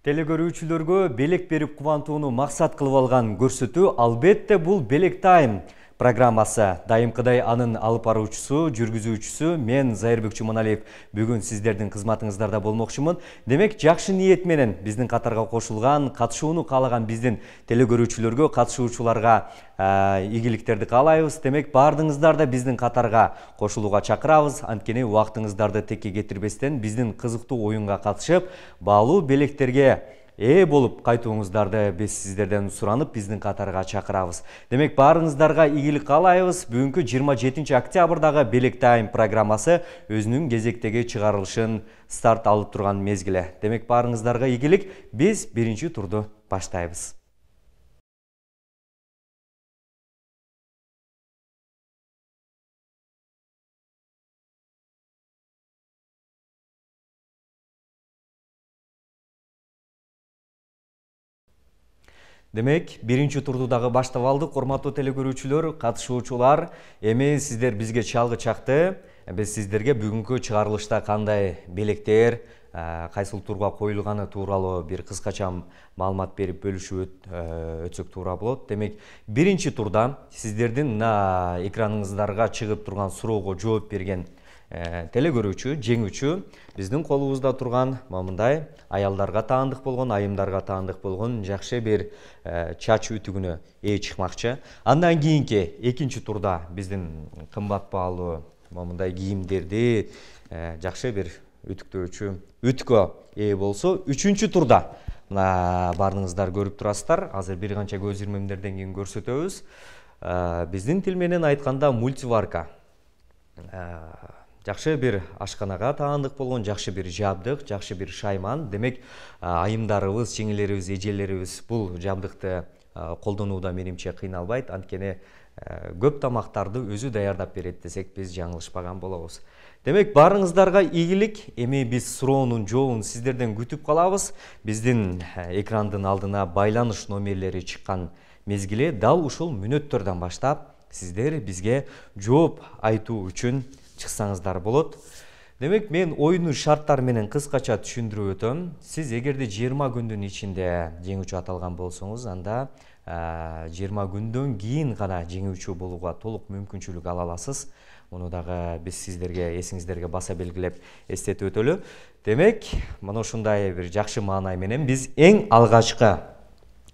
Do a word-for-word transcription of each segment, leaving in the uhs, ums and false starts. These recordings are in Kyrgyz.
Телекөрүүчүлөргө белек берип кубантууну максат кылып алган көрсөтүү албетте бул Белек Тайм программасы. Дайымкыдай анын алып баруучусу, жүргүзүүчүсү мен Зайырбек Чуманалиев бүгүн сиздердин кызматыңыздарда болмокчумун. Демек, жакшы ниет менен биздин катарга кошулган, катышууну каалаган биздин телекөрүүчүлөргө, катышуучуларга ийгиликтерди каалайбыз. Демек, баардыгыңыздар да биздин катарга кошулууга чакырабыз. Анткени убактыңыздарды текке кетирбестен биздин кызыктуу оюнга катышып, баалуу белектерге ээ болуп кайтууңуздарды биз сиздерден суранып, биздин катарга чакырабыз. Демек, баарыңыздарга ийгилик каалайбыз. Бүгүнкү жыйырма жетинчи октябрдагы Белек Тайм программасы өзүнүн кезектеги чыгарылышын старт алып турган мезгили. Демек, баарыңыздарга ийгилик. Биз биринчи турду баштайбыз. Демек, биринчи турду дагы баштап алдык. Урматтуу телекөрүүчүлөр, катышуучулар, эми сиздер бизге чалгы чакты. Биз сиздерге бүгүнкү чыгарылышта кандай белектер, кайсыл турга коюлганы тууралуу бир кыскача маалымат берип бөлүшүп өтсөк туура болот. Демек, биринчи турда сиздердин экраныңыздарга чыгып турган суроого жооп берген телекөрүүчү, жеңүүчү биздин колубузда турган момундай аялдарга таандык болгон, айымдарга таандык болгон жакшы бир чач ütүгүнө ээ чыкмакчы. Андан кийинки экинчи турда биздин кымбат баалуу момундай кийимдерди жакшы бир ütүктөөчү үткө ээ болсо, үчүнчү турда мына баарыңыздар көрүп турасыздар. Азыр бир канча көз ирмемдерден кийин көрсөтөбүз. Биздин тил менен айтканда мультиварка. Жакшы бир ашканага таандык болгон жакшы бир жабдык, жакшы бир шайман. Демек, айымдарыбыз, жеңелерибиз, эжелерибиз бул жабдыкты колдонууда менимче кыйналбайт. Анткени көп тамактарды өзү даярдап берет десек, биз жаңылышпаган болобуз. Демек, баарыңыздарга ийгилик. Эми биз суроонун жообун сиздерден күтүп калабыз. Биздин экрандын алдына байланыш номерлери чыккан мезгили дал ушул мүнөттөрдөн баштап сиздер бизге жооп айтуу үчүн чыксаңыздар болот. Демек, мен оюнун шарттары менен кыскача түшүндүрүп өтөм. Сиз эгерде жыйырма күндүн ичинде жеңүүчү аталган болсоңуз, анда жыйырма күндөн кийин гана жеңүүчү болууга толук мүмкүнчүлүк ала аласыз. Муну дагы биз сиздерге эсиңиздерге баса белгилеп эстетип өтөлү. Демек, мына ушундай бир жакшы маанай менен биз эң алгачкы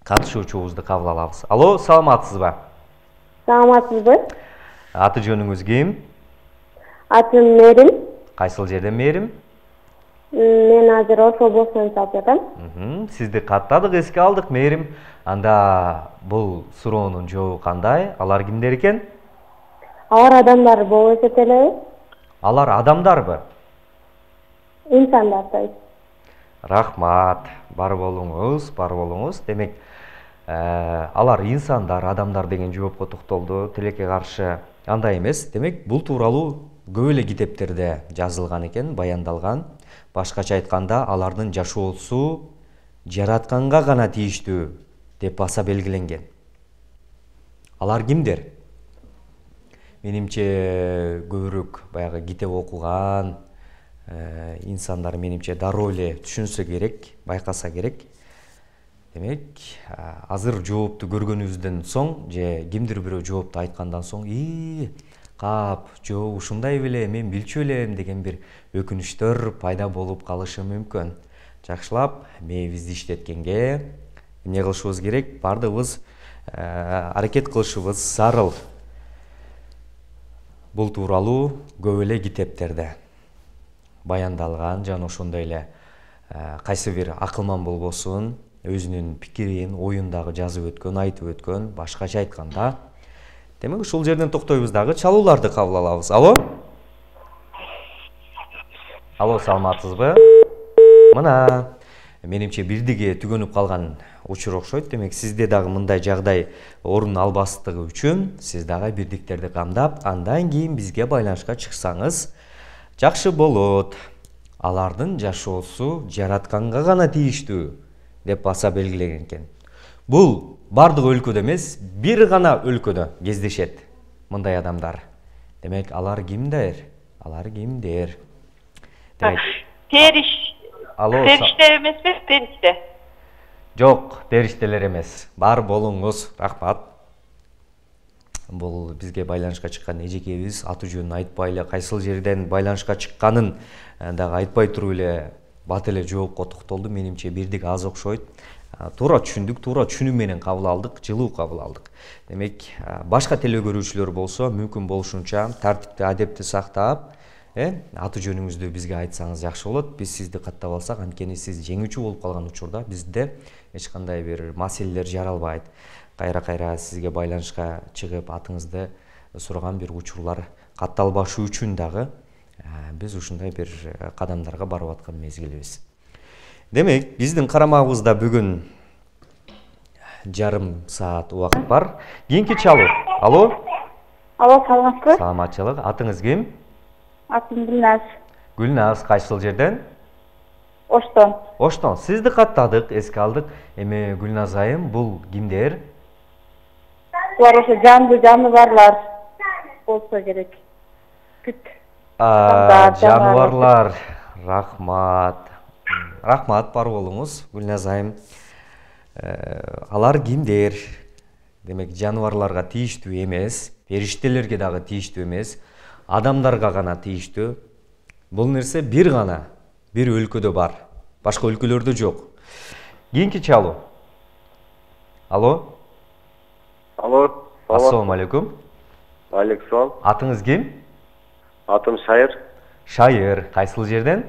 катышуучубузду кабыл алабыз. Алло, саламатсызбы? Саламатсызбы? Аты жөнүңүз ким? Атым Мерим. Кайсыл жерден Мерим? Мен азыр Ош облусунан чалып жатам. Сизди каттадык, эске алдык, Мерим. Анда бул суроонун жообу кандай? Алар кимдер экен? Алар адамдар болуп эсептелеби? Алар адамдарбы? Инсандар, то есть. Рахмат. Бар болуңуз, бар болуңуз. Демек, алар инсандар, адамдар деген жоопко токтолду. Тилекке каршы андай эмес. Демек, бул тууралуу көп эле китептерде жазылган экен, баяндалган. Башкача айтканда, алардын жашоосу жаратканга гана тийиштүү деп баса белгиленген. Алар кимдер? Менимче көбүрөөк баягы китеп окуган инсандар менимче дароо эле түшүнсө керек, байкаса керек. Демек, азыр жоопту көргөнүбүздөн соң, же кимдир бирөө жоопту айткандан соң, «И, кап, жоо, ушундай беле, мен билчү элем» деген бир өкүнүчтөр пайда болуп калышы мүмкүн. Жакшылап мээбизди иштеткенге эмне кылышыбыз керек? Бардыгыбыз аракет кылышыбыз зарыл. Бул тууралуу көп эле китептерде баяндалган, жана ошондой эле кайсы бир акылман болбосун, өзүнүн пикирин, оюн дагы жазып өткөн, айтып өткөн, башкача айтканда. Демек, ушул жерден токтойбуз дагы, чалууларды кабыл алабыз. Алло? Алло, саламатсызбы? Мына, менимче бирдиге түгөнүп калган учур окшойт. Демек, сизде дагы мындай жагдай орун албастыгы үчүн сиз дагы бирдиктерди камдап, андан кийин бизге байланышка чыксаңыз жакшы болот. Алардын жашоосу жаратканга гана тийиштүү деп баса белгилеген экен. Бул бардык өлкөдө эмес, бир гана өлкөдө кездешет мындай адамдар. Демек, алар кимдер? Алар кимдер? Периш. Периште эмеспи? Периште. Жок, периштелер эмес. Бар болуңуз. Рахмат. Бул бизге байланышка чыккан эжекебиз аты жөнүн айтпай эле, кайсыл жерден байланышка чыкканын дагы айтпай туруп эле бат эле жоопко токтолду. Менимче бирдик аз окшойт. Туура түшүндүк, туура түшүнүү менен кабыл алдык, жылуу кабыл алдык. Демек, башка теле көрүүчүлөр болсо, мүмкүн болушунча тартипти, адепти сактап, э, аты жөнүңүздү бизге айтсаңыз жакшы болот. Биз сизди каттап алсак, анткени сиз жеңүүчү болуп калган учурда бизде эч кандай бир маселелер жаралбайт. Кайра-кайра сизге байланышка чыгып атыңызды сураган бир учурлар катталбашы үчүн дагы биз ушундай бир кадамдарга барып аткан мезгилибиз. Демек, биздин карамагыбызда бүгүн жарым саат убакыт бар. Кийинки чалуу. Алло. Алло, саламатсызбы? Саламатчылык. Атыңыз ким? Атым Гүлназ. Гүлназ, кайсыл жерден? Оштон. Оштон. Сизди каттадык, эске алдык. Эми Гүлназ айым, бул кимдер? Булар ошо жанды жаныбарлар болсо керек. Бүт. Жаныбарлар. Рахмат. Рахмат, бар болуңуз, Гүлназ айым. Алар кимдер? Демек, жаныбарларга тийиштүү эмес, периштелерге дагы тийиштүү эмес, адамдарга гана тийиштүү. Бул нерсе бир гана бир өлкөдө бар, башка өлкөлөрдө жок. Кийинки чалуу. Алло. Алло. Ассалому алейкум. Алейкум. Атыңыз ким? Атым Шайыр. Шайыр, кайсыл жерден?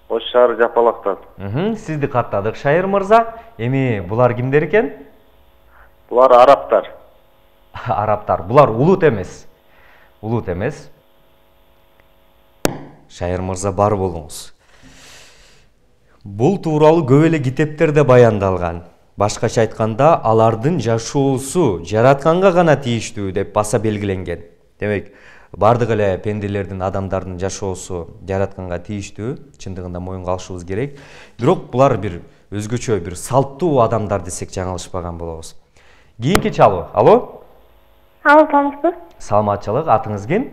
Ош шаар Жапалактан. Мхм, сизди каттадык, Шайыр мырза. Эми булар кимдер экен? Булар араптар. Араптар. Булар улут эмес. Улут эмес. Шайыр мырза, бар болуңуз. Бул тууралуу көп эле китептерде баяндалган. Башкача айтканда, алардын жашоосу жаратканга гана тийиштүү деп баса белгиленген. Демек, бардык эле пенделердин, адамдардын жашоосу жаратканга тийиштүү, чындыгында моюнга алышыбыз керек. Бирок булар бир өзгөчө бир салттуу адамдар десек жаңылышпаган болобуз. Кийинки чалуу. Алло. Алло, саламатсызбы? Саламатчылык. Атыңыз ким?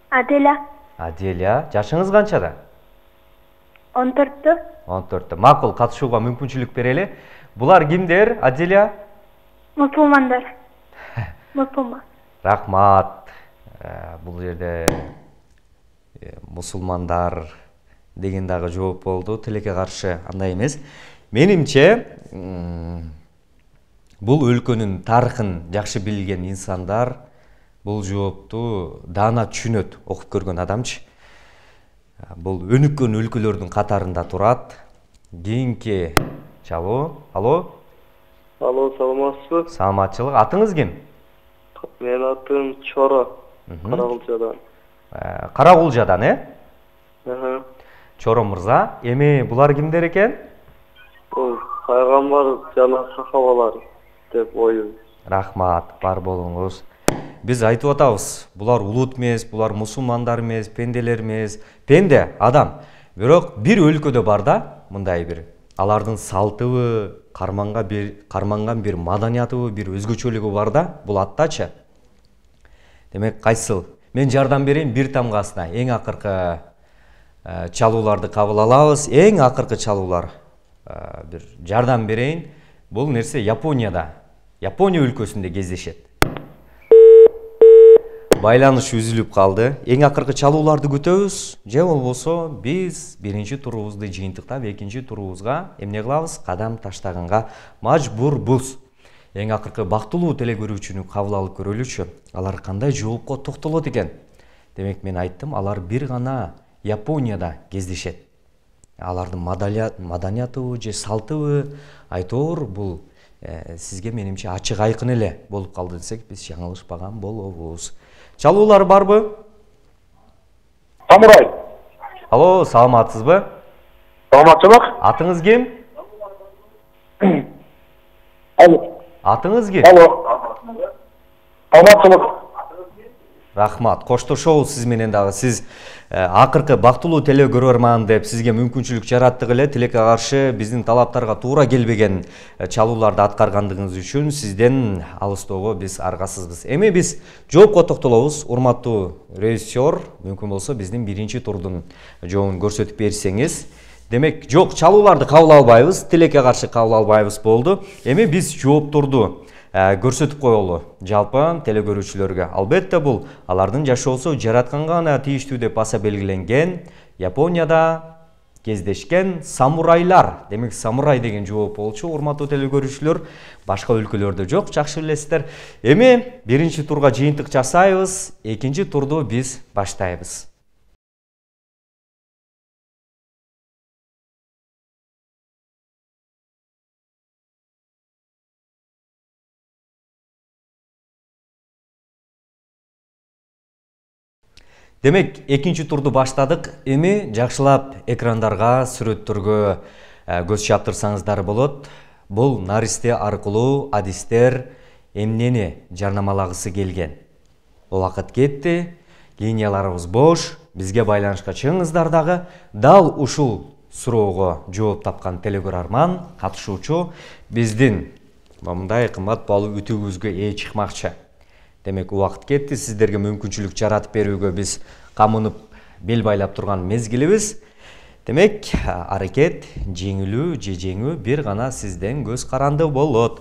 Аделя. Аделя. Жашыңыз канчада? он төрттө. он төрттө. Макул, катышууга мүмкүнчүлүк берели. Булар кимдер, Аделя? Мусулмандар. Мусулман. Рахмат. Бул жерде мусулмандар деген дагы жооп болду. Тилекке каршы андай эмес. Менимче, бул өлкөнүн тарыхын жакшы билген инсандар бул жоопту даана түшүнөт, окуп көргөн адамчы. Бул өнүккөн өлкөлөрдүн катарында турат. Кийинки чалуу. Алло. Алло, саламатсызбы? Саламатчылык. Атыңыз ким? Менин атым Чоро. Карагулжадан. Карагулжадан, э? Аха. Чоро мырза, эми булар кимдер экен? Бул пайгамбар жана сахабалар деп ойлойм. Рахмат, бар болуңуз. Биз айтып атабыз, булар улут эмес, булар мусулмандар эмес, пенделер эмес. Пенде адам. Бирок бир өлкөдө бар да, мындай бир алардын салтыбы, карманга бир карманган бир маданиятыбы, бир өзгөчөлүгү бар да, бул аттачы. Демек, кайсыл? Мен жардам берейин бир тамгасына. Эң акыркы чалууларды кабыл алабыз. Эң акыркы чалуулар бир жардам берейин. Бул нерсе Японияда, Япония өлкөсүндө кездешет. Байланыш үзүлүп калды. Эң акыркы чалууларды күтөбүз. Же болбосо биз биринчи турубузду жыйынтыктап, экинчи турубузга эмне кылабыз? Кадам таштаганга мажбурбуз. Эң акыркы бактылуу теле көрүүчүнү кабыл алып көрөлүчү. Алар кандай жоопко токтолот экен? Демек, мен айттым, алар бир гана Японияда кездешет. Алардын маданиятыбы же салтыбы айтор бул сизге менимче ачык айкын эле болуп калды десек, биз жаңылышпаган болобуз. Чалуулар барбы? Самурай. Алло, саламатсызбы? Саламатчылык. Атыңыз ким? Алло. Атыңыз ким? Алло. Саламатчылык. Рахмат. Коштошобуз сиз менен дагы. Сиз акыркы бактылуу теле көрөрман деп сизге мүмкүнчүлүк жараттык эле. Тилекке каршы биздин талаптарга туура келбеген чалууларды аткаргандыгыңыз үчүн сизден алыстоого биз аргасызбыз. Эми биз жоопко токтолобуз. Урматтуу режиссер, мүмкүн болсо биздин биринчи турдун жообун көрсөтүп берсеңиз. Демек, жок, чалууларды кабыл албайбыз, тилекке каршы кабыл албайбыз болду. Эми биз жоопторду көрсөтүп коелу жалпы телекөрүүчүлөргө. Албетте бул алардын жашоосу жаратканга гана тийиштүү деп баса белгиленген Японияда кездешкен самурайлар. Демек, самурай деген жооп болчу, урматтуу телекөрүүчүлөр. Башка өлкөлөрдө жок, жакшы билесиздер. Эми биринчи турга жыйынтык жасайбыз, экинчи турду биз баштайбыз. Демек, экинчи турду баштадык. Эми жакшылап экрандарга, сүрөттөргө көз чаптырсаңыздар болот. Бул наристе аркылуу адистер эмнени жарнамалагысы келген. Убакыт кетти, линияларыбыз бош, бизге байланышка чыгыңыздар дагы. Дал ушул суроого жооп тапкан телекөрөрман, катышуучу биздин мындай кымбат баалуу үтүүбүзгө ээ чыкмакчы. Демек, убакыт кетти, сиздерге мүмкүнчүлүк жаратып берүүгө биз камынып бел байлап турган мезгилибиз. Демек, аракет жеңилүү же жеңүү бир гана сизден көз каранды болот.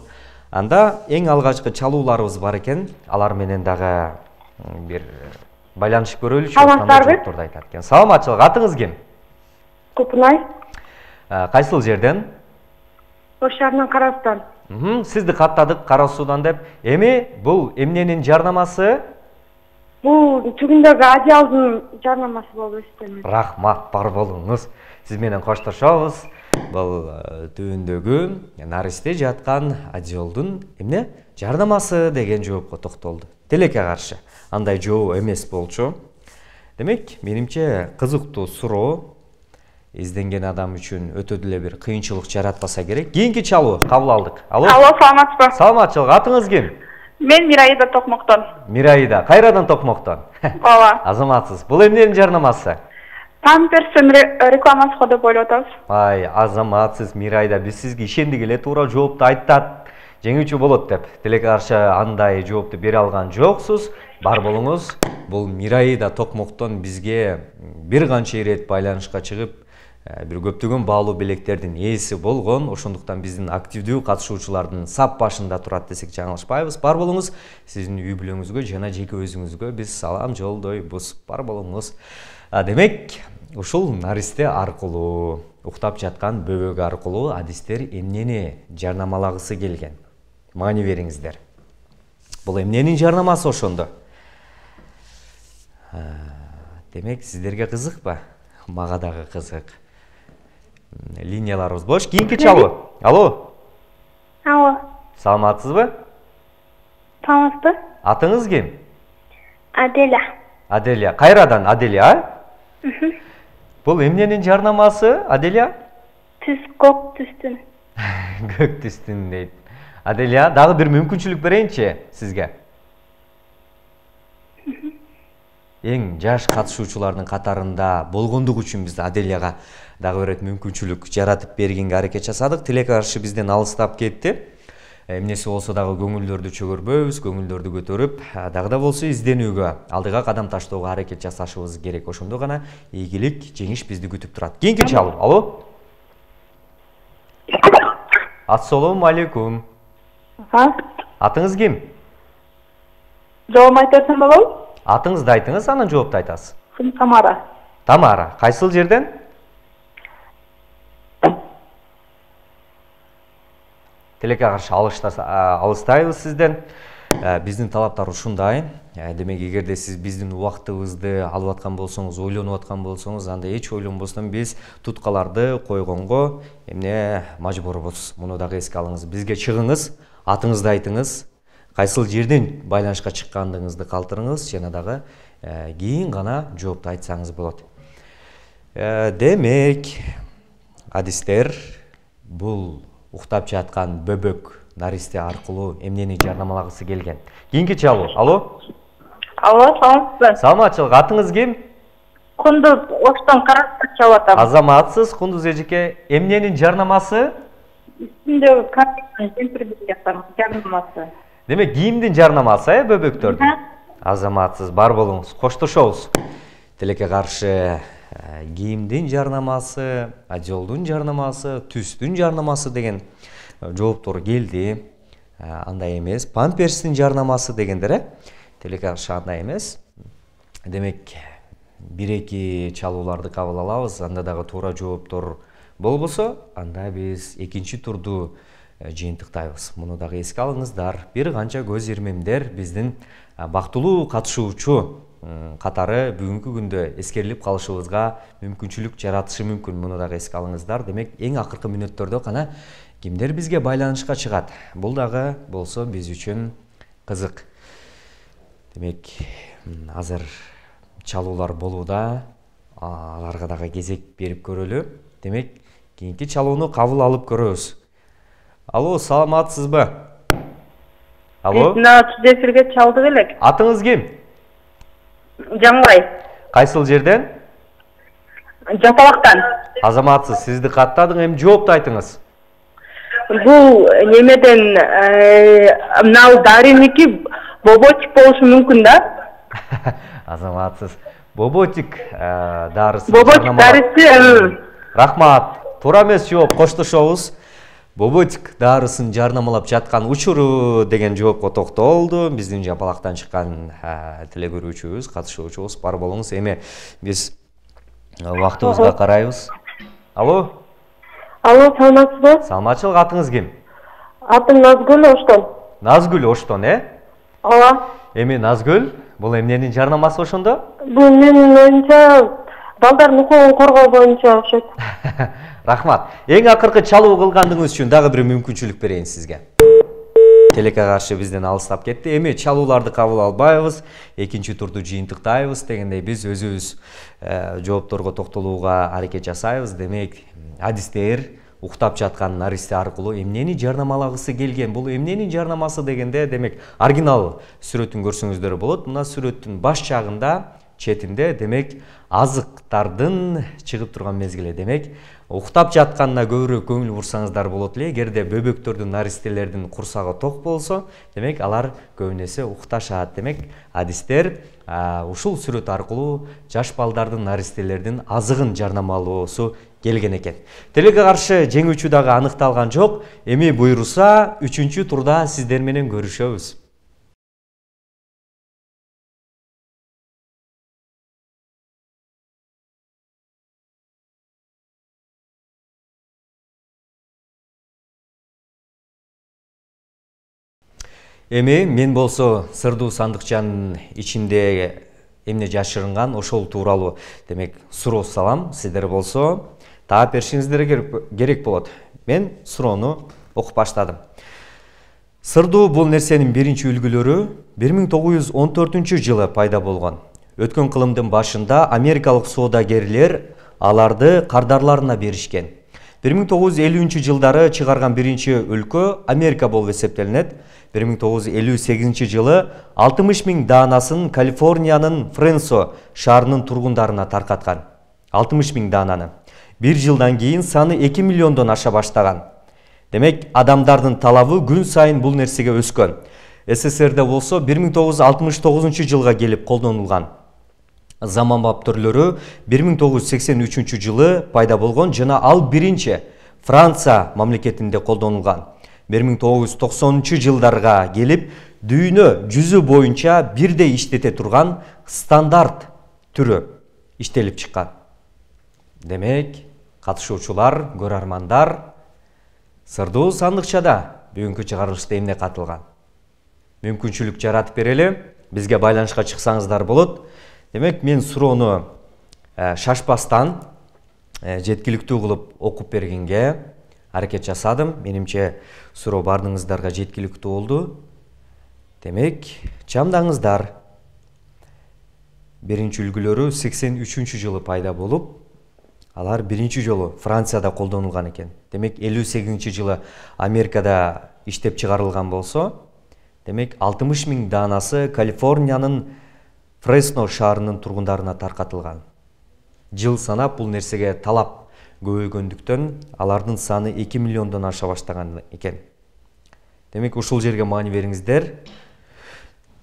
Анда эң алгачкы чалууларыбыз бар экен, алар менен дагы бир байланышып көрөлүчү. Саламатсыздарбы? Айтат экен. Саламатчылык, атыңыз ким? Купунай. Кайсыл жерден? Ош шаарынан Карасудан. Сизди каттадык Кара Суудан деп. Эми бул эмненин жарнамасы? Бул түгүндөгү Адиалдын жарнамасы болуп эсептелет. Рахмат, бар болуңуз. Сиз менен коштошобуз. Бул түбүндөгү наристе жаткан Адиалдын эмне жарнамасы деген жоопко токтолду. Тилекке каршы андай жоо эмес болчу. Демек, менимче кызыктуу суроо. Изденген адам үчүн өтө деле бир кыйынчылык жаратпаса керек. Кийинки чалуу кабыл алдык. Алло. Алло, саламатсызбы? Саламатчылык, атыңыз ким? Мен Мираида Токмоктон. Мираида, кайрадан Токмоктон? Ооба. Азаматсыз. Бул эмненин жарнамасы? Памперстин рекламасы го деп ойлоп атабыз. Ай, азаматсыз Мираида, биз сизге ишендик эле, туура жоопту айттат. Жеңүүчү болот деп. Тилекке каршы андай жоопту бере алган жоксуз. Бар болуңуз. Бул Мираида Токмоктон бизге бир канча ирет байланышка чыгып, бир көптөгөн баалуу белектердин ээси болгон. Ошондуктан биздин активдүү катышуучулардын сап башында турат десек жаңылышпайбыз. Бар болуңуз. Сиздин үй бүлөңүзгө жана жеке өзүңүзгө биз салам жолдойбуз. Бар болуңуз. Демек, ушул наристе аркылуу, уктап жаткан бөбөк аркылуу адистер эмнени жарнамалагысы келген? Маани бериңиздер. Бул эмненин жарнамасы ошондо? Демек, сиздерге кызыкпы? Мага дагы кызык. Линияларыбыз бош. Кийинки чалуу. Алло. Алло. Саламатсызбы? Саламатсызбы? Атыңыз ким? Аделя. Аделя. Кайрадан Аделя, а? Бул эмненин жарнамасы, Аделя? Түз көк түстүн. Көк түстүн дейт. Аделя, дагы бир мүмкүнчүлүк берейинчи сизге. Эң жаш катышуучулардын катарында болгондук үчүн биз Аделяга дагы бир мүмкүнчүлүк жаратып бергенге аракет жасадык. Тилекке каршы бизден алыстап кетти. Эмнеси болсо дагы көңүлдөрдү чөгөрбөйбүз, көңүлдөрдү көтөрүп, дагы да болсо изденүүгө, алдыга кадам таштоого аракет жасашыбыз керек. Ошондо гана ийгилик, жеңиш бизди күтүп турат. Кийинки чалуу. Алло. Ассалому алейкум. Атыңыз ким? Жоом айтасың болобу? Атыңызды айтыңыз, анан жоопту айтасыз. Тамара. Тамара, кайсыл жерден? Тилекке каршы алыстайбыз сизден. Биздин талаптар ушундай. Демек, эгерде сиз биздин убактыбызды алып аткан болсоңуз, ойлонуп аткан болсоңуз, анда эч ойлонбостон биз туткаларды койгонго эмне мажбурбуз. Муну дагы эске алыңыз. Бизге чыгыңыз, атыңызды айтыңыз, кайсыл жерден байланышка чыккандыгыңызды калтырыңыз, жана дагы кийин гана жоопту айтсаңыз болот. Демек, адистер бул уктап жаткан бөбөк наристе аркылуу эмнени жарнамалагысы келген? Кийинки чалуу. Алло. Алло, саламатсызбы? Саламатчылык, атыңыз ким? Кундуз, Оштон Карасудан чалып атам. Азаматсыз, Кундуз эжеке, эмненин жарнамасы? Үстүндөгү карточканын жемпирдин жарнамасы. Демек, кийимдин жарнамасы, э, бөбөктөрдүн? Азаматсыз, бар болуңуз, коштошобуз. Тилекке каршы кийимдин жарнамасы, жолдун жарнамасы, түстүн жарнамасы деген жооптор келди. Андай эмес. Памперстин жарнамасы дегендер, э? Телекаршы андай эмес. Демек, бир-эки чалууларды кабыл алабыз. Анда дагы туура жооптор болбосо, анда биз экинчи турду жыйынтыктайбыз. Муну дагы эске алыңыздар. Бир канча көз ирмемдер биздин бактылуу катышуучу катары бүгүнкү күндө эскерилип калышыбызга мүмкүнчүлүк жаратышы мүмкүн. Муну дагы эске алыңыздар. Демек, эң акыркы мүнөттөрдө кана кимдер бизге байланышка чыгат. Бул дагы болсо биз үчүн кызык. Демек, азыр чалуулар болууда. Аларга дагы кезек берип көрөлү. Демек, кийинки чалууну кабыл алып көрөбүз. Алло, саламатсызбы? Алло? Мына сиз эфирге чалдык элек. Атыңыз ким? Жамбай. Кайсыл жерден? Жапалактан. Азаматсыз, сизди каттадың, эми жоопту айтыңыз. Бул немеден мына дариники боботик болушу мүмкүн да? Азаматсыз. Боботик дарысы. Боботик дарысы. Рахмат. Туура эмес жооп, коштошобуз. Боботик дарысын жарнамалап жаткан учуру деген жоопко токтолду. Биздин Жапалактан чыккан теле көрүүчүбүз, катышуучубуз бар болуңуз. Эми биз убактыбызга карайбыз. Алло? Алло, саламатсызбы? Саламатчылык, атыңыз ким? Атым Назгүл Оштон. Назгүл Оштон, э? Ооба. Эми Назгүл, бул эмненин жарнамасы ошондо? Бул менин оюмча балдардын укугун коргоо боюнча окшойт. Рахмат. Эң акыркы чалуу кылгандыгыңыз үчүн дагы бир мүмкүнчүлүк берейин сизге. Телекка каршы бизден алыстап кетти. Эми чалууларды кабыл албайбыз. Экинчи турду жыйынтыктайбыз дегендей биз өзүбүз жоопторго токтолууга аракет жасайбыз. Демек, адистер уктап жаткан наристе аркылуу эмнени жарнамалагысы келген. Бул эмненин жарнамасы дегенде, демек, оригинал сүрөтүн көрсөңүздөр болот. Мына сүрөттүн баш жагында, четинде, демек, азыктардын чыгып турган мезгили. Демек, уктап жатканына көбүрөөк көңүл бурсаңыздар болот эле. Эгерде бөбөктөрдүн, наристелердин курсагы ток болсо, демек, алар көбүнесе укташат. Демек, адистер ушул сүрөт аркылуу жаш балдардын, наристелердин азыгын жарнамалоосу келген экен. Телекке каршы жеңүүчү дагы аныкталган жок. Эми буйруса, үчүнчү турда сиздер менен көрүшөбүз. Эми мен болсо сырдуу сандыкчанын ичинде эмне жашырынган ошол тууралуу демек суроо салам. Сиздер болсо таап беришиңиздер керек болот. Мен суроону окуп баштадым. Сырдуу бул нерсенин биринчи үлгүлөрү бир миң тогуз жүз он төртүнчү жылы пайда болгон. Өткөн кылымдын башында америкалык соодагерлер аларды кардарларына беришкен. бир миң тогуз жүз элүүнчү жылдары чыгарган биринчи өлкө Америка болуп эсептелинет. бир миң тогуз жүз элүү сегизинчи жылы алтымыш миң даанасын Калифорниянын Френсо шаарынын тургундарына таркаткан. алтымыш миң даананы. Бир жылдан кийин саны эки миллиондон аша баштаган. Демек, адамдардын талабы күн сайын бул нерсеге өскөн. СССРде болсо бир миң тогуз жүз алтымыш тогузунчу жылга келип колдонулган. Заманбап түрлөрү бир миң тогуз жүз сексен үчүнчү жылы пайда болгон жана ал биринчи Франция мамлекетинде колдонулган. бир миң тогуз жүз токсонунчу жылдарга келип дүйнө жүзү боюнча бирдей иштете турган стандарт түрү иштелип чыккан. Демек, катышуучулар, көрөрмандар, сырдуу сандыкчада бүгүнкү чыгарылышта эмне катылган? Мүмкүнчүлүк жаратып берели, бизге байланышка чыксаңыздар болот. Демек, мен суроону шашпастан жеткиликтүү кылып окуп бергенге аракет жасадым. Менимче суроо бардыңыздарга жеткиликтүү болду. Демек, чамдаңыздар. Биринчи үлгүлөрү сексен үчүнчү жылы пайда болуп, алар биринчи жолу Францияда колдонулган экен. Демек, элүү сегизинчи жылы Америкада иштеп чыгарылган болсо, демек, алтымыш миң даанасы Калифорниянын Фресно шаарынын тургундарына таркатылган. Жыл санап бул нерсеге талап көбөйгөндүктөн алардын саны эки миллиондон аша баштаган экен. Демек, ушул жерге маани бериңиздер.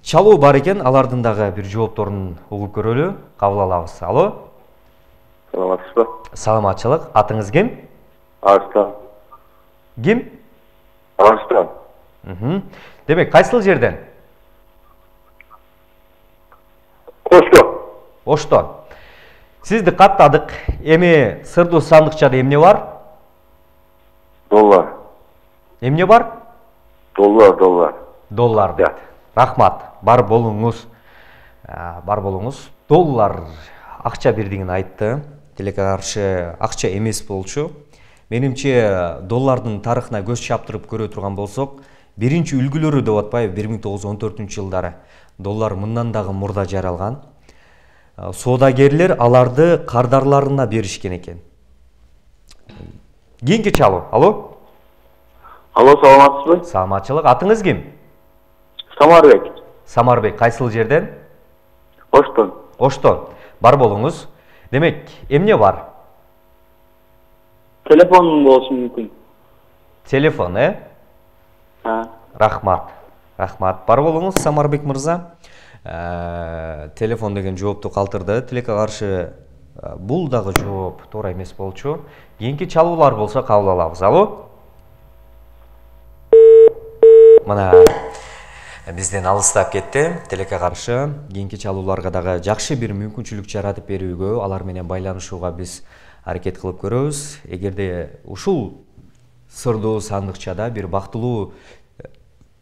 Чалуу бар экен, алардын дагы бир жоопторун угуп көрөлү, кабыл алабыз. Алло? Саламатсызбы? Саламатчылык. Атыңыз ким? Арыстан. Ким? Арыстан. Мхм. Демек, кайсыл жерден? Ошто. Оштон. Сизди каттадык. Эми сырдуу сандыкчада эмне бар? Доллар. Эмне бар? Доллар, доллар. Доллар дейт. Рахмат. Бар болуңуз. Бар болуңуз. Доллар акча бирдигин айтты. Тилекке каршы акча эмес болчу. Менимче доллардын тарыхына көз чаптырып көрө турган болсок, биринчи үлгүлөрү деп атпайбы бир миң тогуз жүз он төртүнчү жылдары доллар мындан дагы мурда жаралган. Соодагерлер аларды кардарларына беришкен экен. Кийинки чалуу. Алло? Алло, саламатсызбы? Саламатчылык. Атыңыз ким? Самарбек. Самарбек, кайсыл жерден? Оштон. Оштон. Бар болуңуз. Демек, эмне бар? Телефонум болушу мүмкүн. Телефон, э? Ha. Рахмат. Рахмат. Бар болуңуз, Самарбек мырза. Телефон деген жоопту калтырды. Тилекке каршы бул дагы жооп туура эмес болчу. Кийинки чалуулар болсо кабыл алабыз. Алло? Мына бизден алыстап кетти. Тилекке каршы кийинки чалууларга дагы жакшы бир мүмкүнчүлүк жаратып берүүгө, алар менен байланышууга биз аракет кылып көрөбүз. Эгерде ушул сырдуу сандыкчада бир бактылуу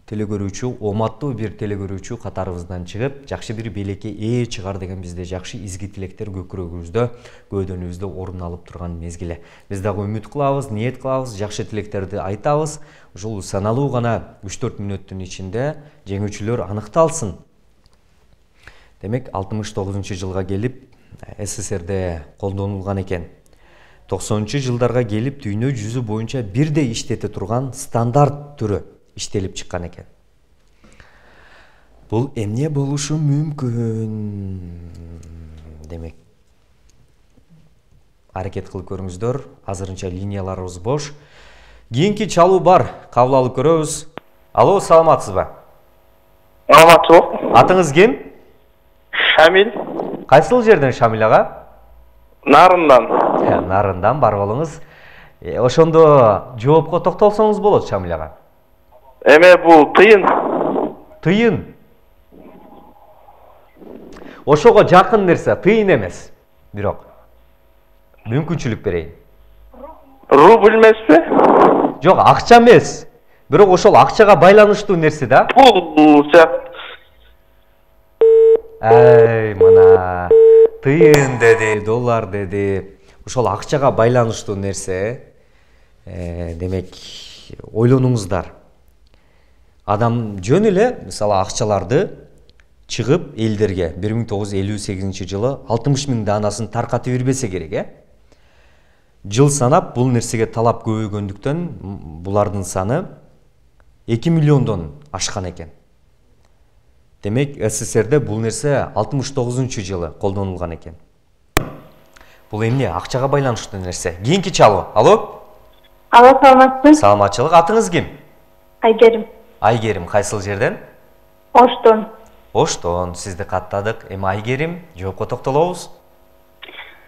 телекөрүүчү, оматтуу бир телекөрүүчү катарыбыздан чыгып, жакшы бир белекке ээ чыгар деген бизде жакшы изги тилектер көкүрөгүбүздө, көөдөнүбүздө орун алып турган мезгили. Биз дагы үмүт кылабыз, ниет кылабыз, жакшы тилектерди айтабыз. Ушул саналуу гана үч төрт мүнөттүн ичинде жеңүүчүлөр аныкталсын. Демек, алтымыш тогузунчу жылга келип, СССРде колдонулган экен. токсонунчу жылдарга келип, дүйнө жүзү боюнча бирдей иштете турган стандарт түрү иштелип чыккан экен. Бул эмне болушу мүмкүн? Демек, аракет кылып көрүңүздөр. Азырынча линияларыбыз бош. Кийинки чалуу бар, кабыл алып көрөбүз. Алло, саламатсызбы? Саламатсызбы? Атыңыз ким? Шамил. Кайсыл жерден Шамил ага? Нарындан. Нарындан. Бар болуңуз. Ошондо жоопко токтолсоңуз болот, Шамил ага. Эме бул тыйын. Тыйын. Ошого жакын нерсе, тыйын эмес. Бирок мүмкүнчүлүк берейин. Рубль эмеспи? Жок, акча эмес. Бирок ошол акчага байланыштуу нерсе да. Бул Ай, мына тыйын деди, доллар деди. Ошол акчага байланыштуу нерсе. Э, демек, ойлонуңуздар. Адам жөн эле, мисалы, акчаларды чыгып элдерге бир миң тогуз жүз элүү сегизинчи жылы алтымыш миң данасын таркатып бербесе керек, э? Жыл санап бул нерсеге талап көбөйгөндүктөн булардын саны эки миллиондон ашкан экен. Демек, СССРде бул нерсе алтымыш тогузунчу жылы колдонулган экен. Бул эмне? Акчага байланыштуу нерсе. Кийинки чалуу. Алло? Алло, саламатсызбы? Саламатчылык. Атыңыз ким? Айгерим. Айгерим, кайсыл жерден? Оштон. Оштон. Сизди каттадык. Эми Айгерим, жоопко токтолобуз.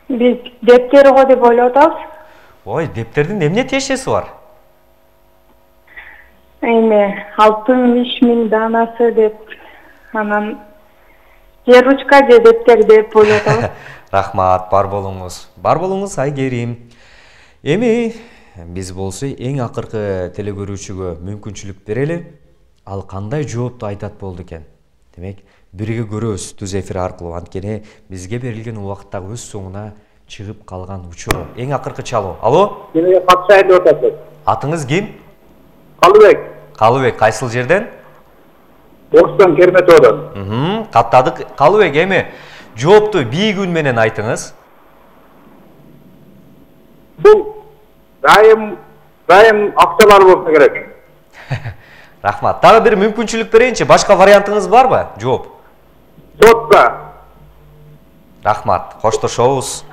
Биз дептери го деп ойлоп атабыз. Ой, дептердин эмне тиешеси бар? Эми алтымыш миң данасы деп, анан же ручка же дептер деп ойлоп атабыз. Рахмат, бар болуңуз. Бар болуңуз, Айгерим. Эми биз болсо эң акыркы телекөрүүчүгө мүмкүнчүлүк берели. Ал кандай жоопту айтат болду экен? Демек, бирге көрөбүз түз эфир аркылуу. Анткени бизге берилген убакытта өз соңуна чыгып калган учур. Эң акыркы чалуу. Алло? Эмеге катышайын деп атасыз? Атыңыз ким? Калыбек. Калыбек, кайсыл жерден? Оштон, Керметоодон. Мхм, каттадык. Калыбек, эми жоопту бийик үн менен айтыңыз. Бул дайым дайым акчалар болсо керек. Рахмат. Дагы бир мүмкүнчүлүк берейинчи. Башка вариантыңыз барбы? Жооп. Сотка. Рахмат. Коштошобуз.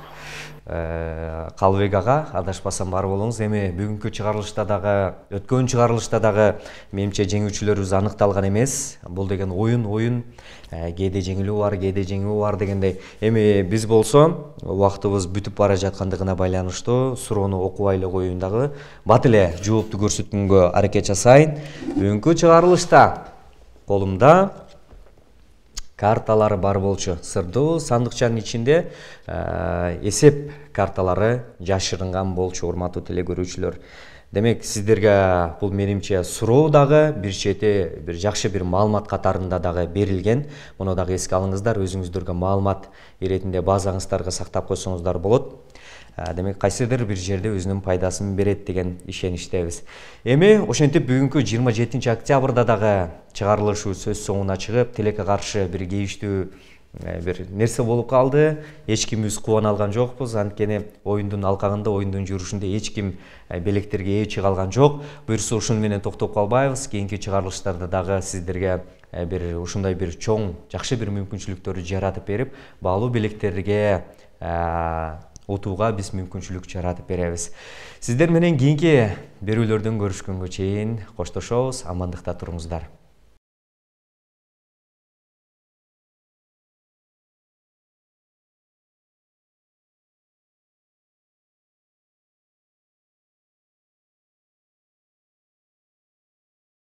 Калыбек ага, адашпасам бар болуңуз. Эми бүгүнкү чыгарылышта дагы, өткөн чыгарылышта дагы менимче жеңүүчүлөрүбүз аныкталган эмес. Бул деген оюн, оюн, кээде жеңилүү бар, кээде жеңүү бар дегендей. Эми биз болсо убактыбыз бүтүп бара жаткандыгына байланыштуу суроону окубай эле коеюн дагы. Бат эле жоопту көрсөткөнгө аракет жасайын. Бүгүнкү чыгарылышта колумда карталары бар болчу. Сырдуу сандыкчанын ичинде эсеп карталары жашырынган болчу, урматтуу телекөрүүчүлөр. Демек, сиздерге бул менимче суроо дагы бир чети бир жакшы бир маалымат катарында дагы берилген. Муну дагы эске алыңыздар, өзүңүздөргө маалымат иретинде базаңыздарга сактап койсоңуздар болот. Демек, кайсыдыр бир жерде өзүнүн пайдасын берет деген ишеничтебиз. Эми ошентип бүгүнкү жыйырма жетинчи октябрда дагы чыгарылышыбыз сөз соңуна чыгып, тилекке каршы бир кейиштүү бир нерсе болуп калды. Эч кимибиз кубана алган жокпуз. Анткени оюндун алкагында, оюндун жүрүшүндө эч ким белектерге ээ чыга алган жок. Буюрса ушуну менен токтоп калбайбыз. Кийинки чыгарылыштарда дагы сиздерге бир ушундай бир чоң, жакшы бир мүмкүнчүлүктөрдү жаратып берип, баалуу белектерге утууга биз мүмкүнчүлүк жаратып беребиз. Сиздер менен кийинки берүүлөрдөн көрүшкөнгө чейин коштошобуз. Амандыкта туруңуздар.